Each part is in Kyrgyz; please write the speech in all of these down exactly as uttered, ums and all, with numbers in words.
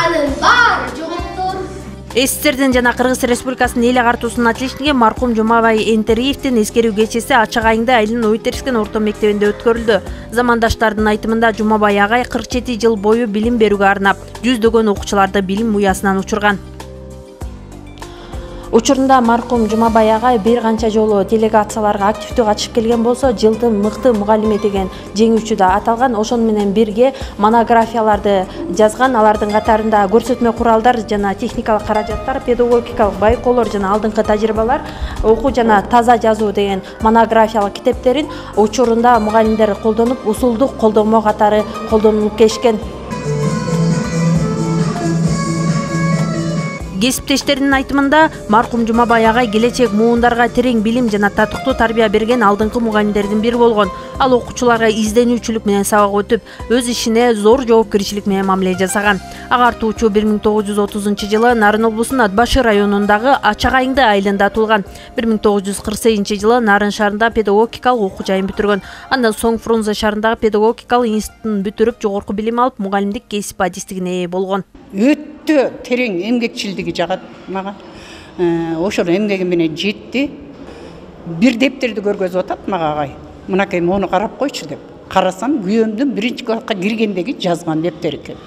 анын баары жоголуптур. СССРдин жана Кыргыз Республикасынын эл агартуусунун отличниги маркум Жумабай Энтериевдин эскерүү кечеси Ачак айында айылдын Ойтерскен орто мектебинде өткөрүлдү. Замандаштардын айтымында Жумабай агай кырк жети жыл бою билим берүүгө арнап, жүздөгөн окуучуларды билим уясынан учурган. Учурунда маркум Жумабай агай бир канча жолу делегацияларга активдүү катышып келген болсо, жылдын мыкты мугалими деген жеңүүчү да аталган. Ошону менен бирге монографияларды жазган. Алардын катарында көрсөтмө куралдар жана техникалык каражаттар, педагогикалык байкоолор жана алдыңкы тажрыйбалар, окуу жана таза жазуу деген монографиялык китептерин учурунда мугалимдер колдонуп, усулдук колдонмо катары колдонулуп келишкен. Кесиптештеринин айтымында маркум Жумабай агай келечек муундарга терең билим жана татыктуу тарбия берген алдыңкы мугалимдердин бири болгон. Ал окуучуларга изденүүчүлүк менен сабак өтүп, өз ишине зор жоопкерчилик менен мамиле жасаган. Агартуучу бир миң тогуз жүз отузунчу жылы Нарын облусунун Ат башы районундагы Ачак айылында туулган. бир миң тогуз жүз кырк сегизинчи жылы Нарын шаарында педагогикалык окуу жайын бүтүргөн. Андан соң Фрунзе шаарындагы педагогикалык институтун бүтүрүп, жогорку билим алып, мугалимдик кесип адистигине ээ болгон. Өтө терең эмгекчилдиги жагат мага. Ошол эмгеги менен жетти. Бир дептерди көргөзүп атат мага агай. Мынакей мону карап койчу деп. Карасам, күйөөмдүн биринчи класска киргендеги жазган дептер экен.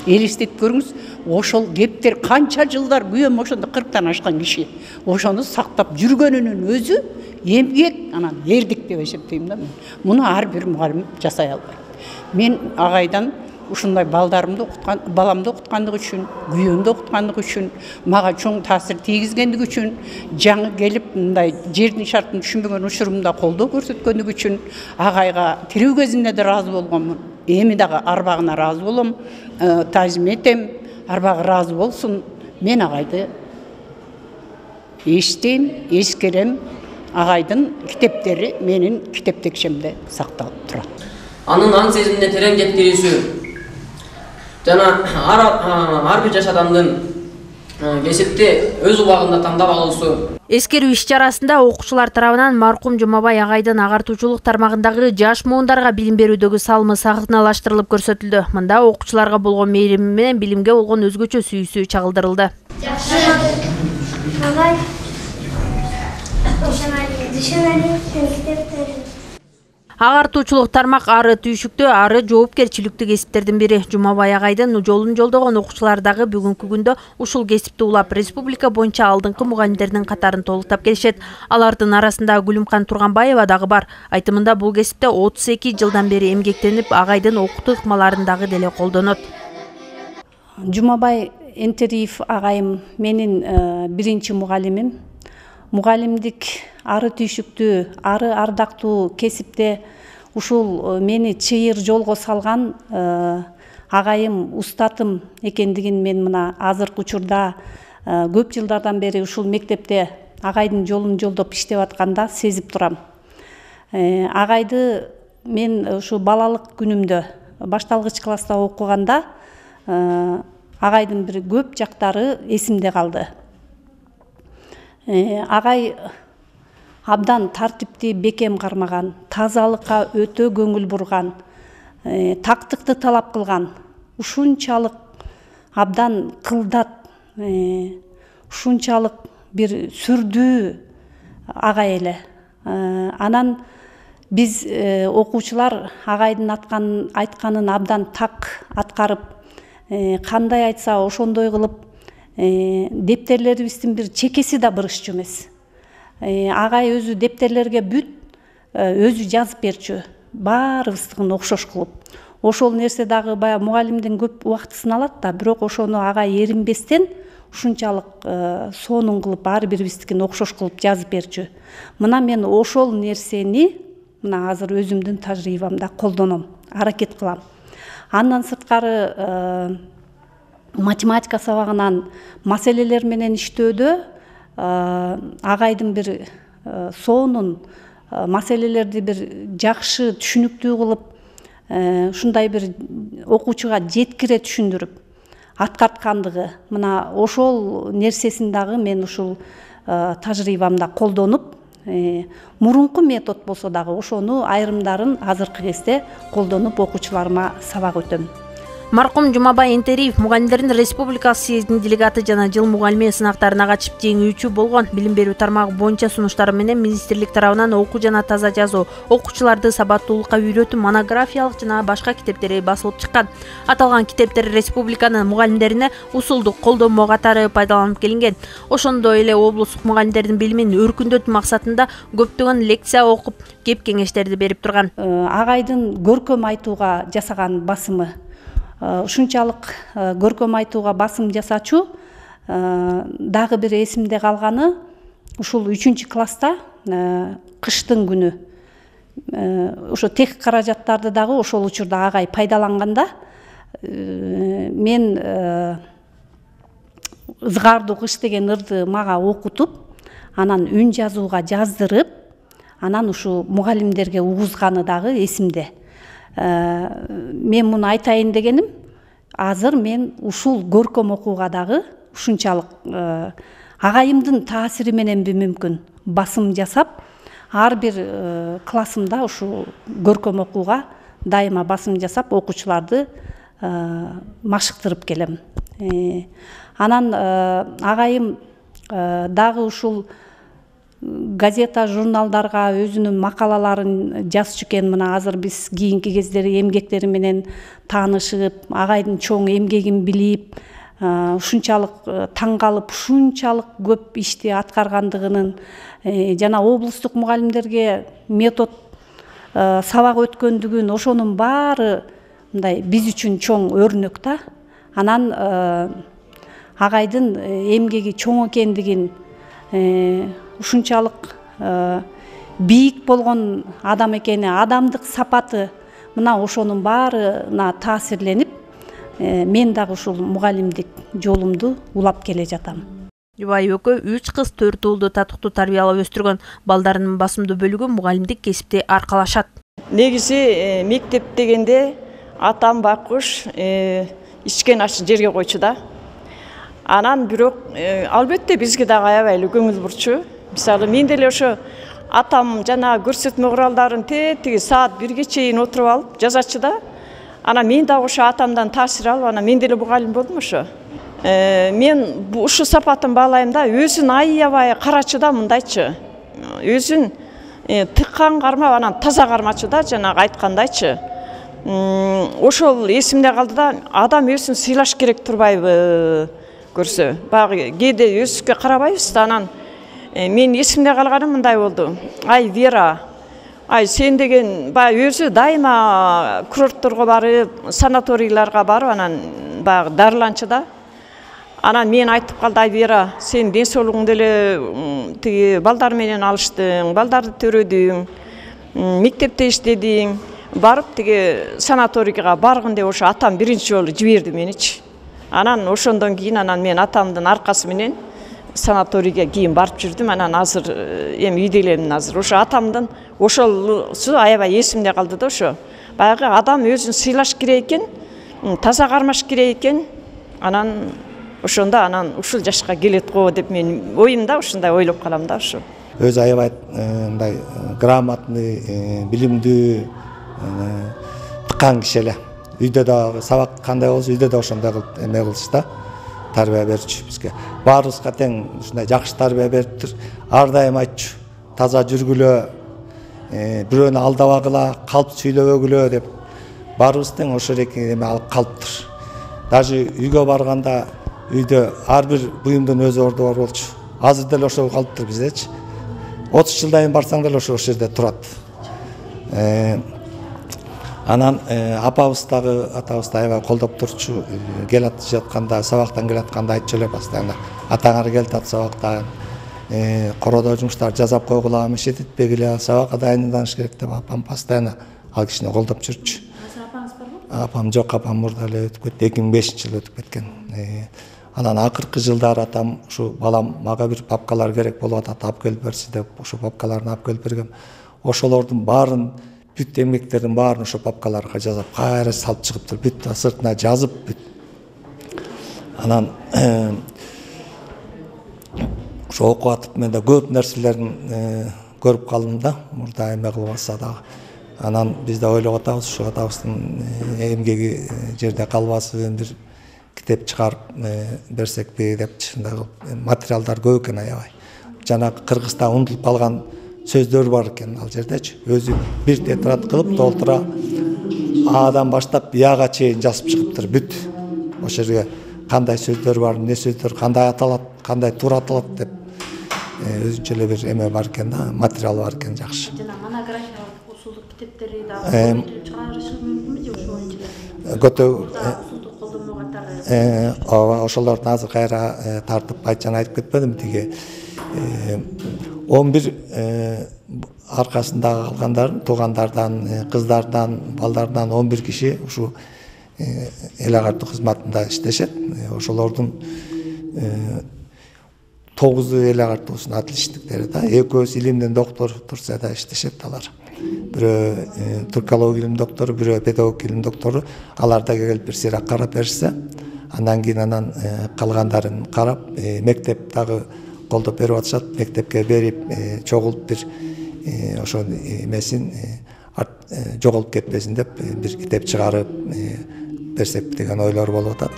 Элестетип көрүңүз, ошол дептер канча жылдар күйөөм ошондо кырктан ашкан киши. Ошону сактап жүргөнүнүн өзү эмгек, анан эрдик деп эсептейм да мен. Муну ар бир мугалим жасай албайт. Мен агайдан ушундай балдарымды окуткан, баламды окуткандыгы үчүн, күйөөмдү окуткандыгы үчүн, мага чоң таасир тийгизгендиги үчүн, жаңы келип мындай жердин шартын түшүнбөгөн учурумда колдоо көрсөткөндүгү үчүн агайга тирүү кезинде да ыраазы болгонмун. Эми дагы арбагына ыраазы болом, таазим этем, арбагы ыраазы болсун. Мен агайды эстейм, эскерем. Агайдын китептери менин китептекчемде сакталып турат. Анын аң сезимине терең жеткирүүсү жана ар бир жаш адамдын кесипти өз убагында тандап алуусу. Эскерүү иш-чарасында окуучулар тарабынан маркум Жумабай агайдын агартуучулук тармагындагы жаш муундарга билим берүүдөгү салымы сахналаштырылып көрсөтүлдү. Мында окуучуларга болгон мээрими менен билимге болгон өзгөчө сүйүүсү чагылдырылды. Жакшы. Агай. Агартуучулук тармак ары түйшүктүү, ары жоопкерчиликтүү кесиптердин бири. Жумабай агайдын жолун жолдогон окуучулар дагы бүгүнкү күндө ушул кесипти улап, республика боюнча алдыңкы мугалимдердин катарын толуктап келишет. Алардын арасында Гүлүмкан Турганбаева дагы бар. Айтымында бул кесипте отуз эки жылдан бери эмгектенип, агайдын окутуу ыкмаларын дагы деле колдонот. Жумабай Энтериев агайым менин биринчи мугалимим. Мугалимдик ары түйшүктүү, ары ардактуу кесипте ушул мени чыйыр жолго салган агайым, устатым экендигин мен мына азыркы учурда көп жылдардан бери ушул мектепте агайдын жолун жолдоп иштеп атканда сезип турам. Агайды мен ушу балалык күнүмдө башталгыч класста окуганда агайдын бир көп жактары эсимде калды. Агай абдан тартипти бекем кармаган, тазалыкка өтө көңүл бурган, тактыкты талап кылган, ушунчалык абдан кылдат, ушунчалык бир сүрдүү агай эле. Анан биз окуучулар агайдын айтканын абдан так аткарып, кандай айтса ошондой кылып, дептерлерибиздин бир чекеси да бырышчу эмес. Агай өзү дептерлерге бүт өзү жазып берчү, баарыбыздыкын окшош кылып. Ошол нерсе дагы баягы мугалимдин көп убактысын алат да, бирок ошону агай эринбестен ушунчалык сонун кылып ар бирибиздикин окшош кылып жазып берчү. Мына мен ошол нерсени мына азыр өзүмдүн тажрыйбамда колдоном, аракет кылам. Андан сырткары математика сабагынан маселелер менен иштөөдө агайдын бир сонун маселелерди бир жакшы түшүнүктүү кылып, ушундай бир окуучуга жеткире түшүндүрүп аткарткандыгы, мына ошол нерсесин дагы мен ушул тажрыйбамда колдонуп, мурунку метод болсо дагы ошону айрымдарын азыркы кезде колдонуп окуучуларыма сабак өтөм. Маркум Жумабай Энтериев мугалимдердин республикалык съездинин делегаты жана жыл мугалими сынактарына катышып жеңүүчү болгон. Билим берүү тармагы боюнча сунуштары менен министрлик тарабынан окуу жана таза жазуу, окуучуларды сабаттуулукка үйрөтүү монографиялык жана башка китептери басылып чыккан. Аталган китептер республиканын мугалимдерине усулдук колдонмо катары пайдаланып келинген. Ошондой эле облустук мугалимдердин билимин өркүндөтүү максатында көптөгөн лекция окуп, кеп кеңештерди берип турган. Агайдын көркөм айтууга жасаган басымы ушунчалык көркөм айтууга басым жасачу дагы бир эсимде калганы ушул үчүнчү класста кыштын күнү ошо тех каражаттарды дагы ошол учурда агай пайдаланганда мен ызгаардуу кыш деген ырды мага окутуп, анан үн жазууга жаздырып, анан ушу мугалимдерге угузганы дагы эсимде. Мен муну айтайын дегеним, азыр мен ушул көркөм окууга дагы ушунчалык агайымдын таасири мененби мүмкүн басым жасап, ар бир классымда ушул көркөм окууга дайыма басым жасап, окуучуларды машыктырып келем. Анан агайым дагы ушул газета, журналдарга өзүнүн макалаларын жазчу экен. Мына азыр биз кийинки кездери эмгектери менен таанышып, агайдын чоң эмгегин билип, ушунчалык таң калып, ушунчалык көп ишти аткаргандыгынын жана облустук мугалимдерге метод сабак өткөндүгүн, ошонун баары мындай биз үчүн чоң өрнөк да. Анан агайдын эмгеги чоң экендигин, ушунчалык бийик болгон адам экени, адамдык сапаты, мына ошонун баарына таасирленип, мен дагы ушул мугалимдик жолумду улап келе жатам. Жубай экөө үч кыз төрт уулду татыктуу тарбиялап өстүргөн. Балдарынын басымдуу бөлүгү мугалимдик кесипти аркалашат. Негизи мектеп дегенде атам байкуш ичкен ашын жерге койчу да. Анан бирок албетте бизге дагы аябай эле көңүл бурчу. Мисалы мен деле ошо атам жана көрсөтмө куралдарын тетиги саат бирге чейин отуруп алып жазачу да. Анан мен дагы ошо атамдан таасир алып, анан мен деле мугалим болдум ошо. Мен ушу сапатын баалайм да, өзүн аябай карачу да, мындайчы. Өзүн тыккан кармап, анан таза кармачу да, жанагы айткандайчы. Ошол эсимде калды да, адам өзүн сыйлаш керек турбайбы көрсө. Багы кээде өзүбүзгө карабайбыз да, анан мен эсимде калганым мындай болду. Ай Вера, ай сен деген баягы өзү дайыма курортторго барып, санаторийларга барып, анан баягы дарыланчу да. Анан мен айтып калды, ай Вера, сен ден соолугуңду эле тиги балдар менен алыштың, балдарды төрөдүң, мектепте иштедиң, барып тиги санаторийга баргын деп ошо атам биринчи жолу жиберди меничи. Анан ошондон кийин анан мен атамдын аркасы менен санаторийге кийин барып жүрдүм. Анан азыр эми үйдө элемин азыр. Ошо атамдын ошолусу аябай эсимде калды да, ошо. Баягы адам өзүн сыйлаш керек экен, таза кармаш керек экен. Анан ошондо анан ушул жашка келет го деп мен оюмда ушундай ойлоп калам да ошо. Өзү аябай мындай грамотный, билимдүү, тыккан киши эле. Үйдө да сабак кандай болсо, үйдө да ошондой кылып эме кылчу да, тарбия берчү бизге. Баарыбызга тең ушундай жакшы тарбия бериптир. Ар дайым айтчу, таза жүргүлө, бирөөнү алдабагыла, калп сүйлөбөгүлө деп. Баарыбыз тең ошо эреки эме алып калыптыр. Даже үйгө барганда үйдө ар бир буюмдун өз орду бар болчу. Азыр деле ошол калыптыр биздечи. отуз жылдан барсаң деле ошо жерде турат. Анан апабыз дагы атабыз да аябай колдоп турчу. Келат жатканда, сабактан келатканда айтчу эле постоянно. Атаңар келатат сабактан. Кородо жумуштар жасап койгула, мешет этпегиле, сабакка дайындалыш керек деп апам постоянно ал кишини колдоп жүрчү. Апаңыз барбы? Апам жок, апам мурда эле өтүп кетти. эки миң бешинчи жылы өтүп кеткен. Анан акыркы жылдары атам ушу балам мага бир папкалар керек болуп атат, алып келип берчи деп ошо папкаларды алып келип бергем. Ошолордун баарын, бүт эмгектердин баарын ошо папкаларга жазып, кайра салып чыгыптыр. Бүт сыртына жазып бүт. Анан ошо окуп атып мен да көп нерселерин көрүп калдым да, мурда эме кылбаса дагы. Анан биз да ойлоп атабыз, ушу атабыздын эмгеги жерде калбасын, бир китеп чыгарып берсекпи деп. Чындагы материалдар көп экен аябай. Жанагы Кыргызда унутулуп калган сөздөр бар экен ал жердечи. Өзү бир тетрадь кылып толтура Адан баштап Яга чейин жазып чыгыптыр бүт. Ошол жерге кандай сөздөр бар, эмне сөздөр, кандай аталат, кандай туура аталат деп өзүнчө эле бир эме бар экен да, материал бар экен жакшы. Жана монографиялык усулдук китептери дагы чыгарышы мүмкүнбү же ошол боюнча? Көтө Усулдук колдонмо катары. Ооба, ошолордун азыр кайра тартып айтчан айтып кетпедим тиги он бир аркасындагы калгандардын, туугандардан, кыздардан, балдардан он бир киши ушу эл агартуу кызматында иштешет. Ошолордун тогузу эл агартуусунун отличниктери да, экөөсү илимдин доктор Турцияда иштешет алар. Бирөө туркология илим доктору, бирөө педагог илим доктору. Алар да келип бир сыйрак карап беришсе, андан кийин анан калгандарын карап, мектеп дагы колдоп берип атышат. Мектепке берип чогулуп бир ошол эмесин жоголуп кетпесин деп бир китеп чыгарып берсек деген ойлор болуп атат.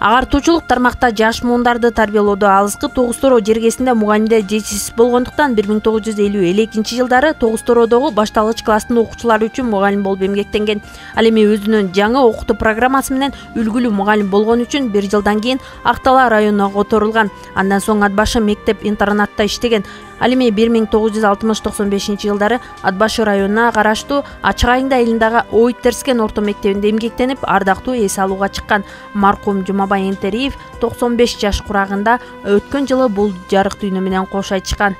Агартуучулук тармакта жаш муундарды тарбиялоодо алыскы Тогуз Торо жергесинде мугалимдер жетишсиз болгондуктан бир миң тогуз жүз элүү экинчи жылдары Тогуз Тородогу башталгыч класстын окуучулары үчүн мугалим болуп эмгектенген. Ал эми өзүнүн жаңы окутуу программасы менен үлгүлүү мугалим болгон үчүн бир жылдан кийин Актала районуна которулган. Андан соң ат башы мектеп-интернатта иштеген. Ал эми бир миң тогуз жүз алтымыш токсон бешинчи жылдары Ат башы районуна караштуу Ачык Айыңды айылындагы Ойт Терскен орто мектебинде эмгектенип, ардактуу эс алууга чыккан. Маркум Жумабай Энтериев токсон беш жаш курагында өткөн жылы бул жарык дүйнө менен кош айтышкан.